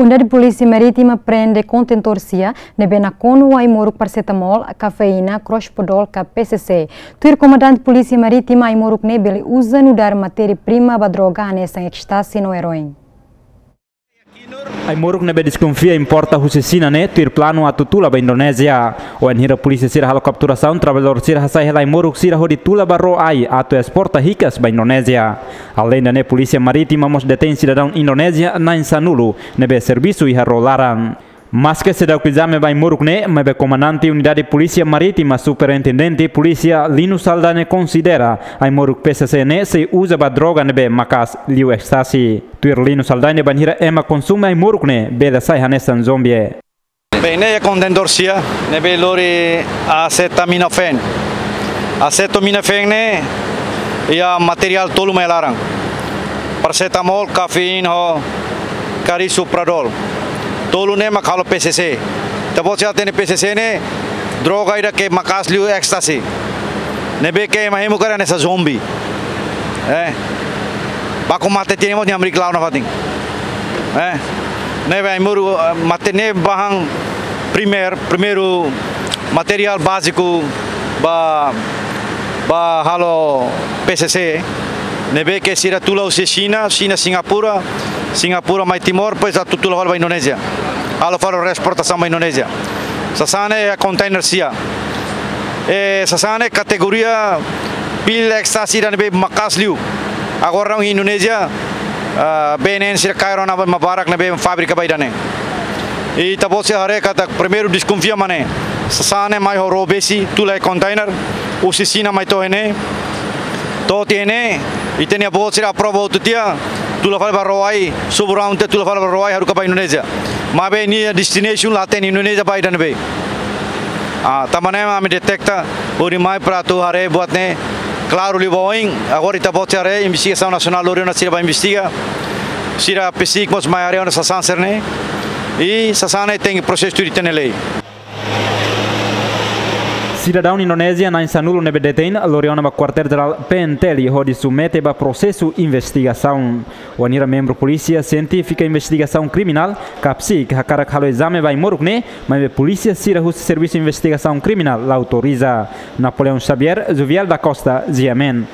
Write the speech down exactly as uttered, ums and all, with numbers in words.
Unidade Polísia Marítima prende kontentór sia ne'ebé nakonu ai-moruk parasetamol, kafeína, crospedol ka P C C. Tuir Komandante Polísia Marítima, ai-moruk ne'e bele uza nu'udar matéria-prima ba droga hanesan ecstasy no heroin. Ai-moruk ne'ebé deskonfia importa husi Xina ne'e tuir planu atu tula ba Indonézia. Wainhira polísia sira halo kapturasaun, traballadór sira hasai hela ai-moruk sira hodi tula ba ró-ai atu esporta hikas ba Indonézia. Aleinde ne'e, Polísia Marítima mós detein sidadaun Indonézia na'in-sanulu ne'ebé servisu iha ró laran. Maske seidauk ezame ba ai-moruk ne'e, maibé Komandante Unidade Polísia Marítima, Superintendente Polísia Lino Saldanha konsidera ai-moruk P C C ne'e sei uza ba droga ne'ebé maka'as liu ecstasy. Tuir Lino Saldanha, bainhira ema konsume ai-moruk ne'e bele sai hanesan zombi. Bem, ne'e kontentór sia ne'ebé lori acetaminofén. Acetaminofén ne'e iha materiál tolu mai laran. Parasetamol, kafeína ho carisoprodol. Tolu ne'e mak halo P C C. Ita-boot sira hatene P C C ne'e droga ida ke maka'as liu ecstasy. Ne'ebé ke ema hemu karik hanesan zombi. Eh. Baku mate tiha ne'e mós nia hamriik la'o nafatin. Eh. Ne'ebé ai-moruk, eh, mate ne'e bahan primeir, primeiru materiál báziku ba, ba halo P C C. Ne'ebé ke sira tula husi Xina, Xina Singapura, Singapura mai Timor, depois atu tula fali ba Indonézia. Halo fali esportasaun ba Indonézia. Sasán ne'e iha kontainer sia. Eh, sasán ne'e kategoria pil ecstasy ida ne'ebé maka'as liu. Agora iha Indonézia, ah, B N N sira kaer ona ba ema barak ne'ebé fábrika ba ida-ne'e. I ita-boot sira haree katak primeiru deskonfia mak ne'e. Sasán ne'e mai ho ró-besi, tula iha kontainer, husi Xina mai to'o iha ne'e. To'o tiha iha ne'e, ita-nia boot sira aprova hotu tiha, tula fali ba ró-ai, sobu raun tiha tula fali ba ró-ai, haruka ba Indonézia. Maibé nia destination la hatene, Indonézia ba ida ne'ebé. Ah, tanba ne'e mak ami deteta, hodi mai para atu haree buat ne'e klaru liu ba oin. Agora ita-boot sira haree, Investigasaun Nasionál lori ona sira ba investiga. Sira PCIC mós mai haree ona sasán sira-ne'e. I sasán ne'e tenke prosesu tuir ita-nia lei. Sidadaun Indonézia na'in-sanulu ne'ebé detein lori ona ba Kuartél Jerál PNTL hodi submete ba prosesu investigasaun. Wainhira membru Polísia Sientífika Investigasaun Kriminál, ka PCIC, hakarak halo ezame ba ai-moruk ne'e, maibé polísia sira husi Servisu Investigasaun Kriminál la autoriza. Napoleão Xavier, Juviel da Costa, G M N.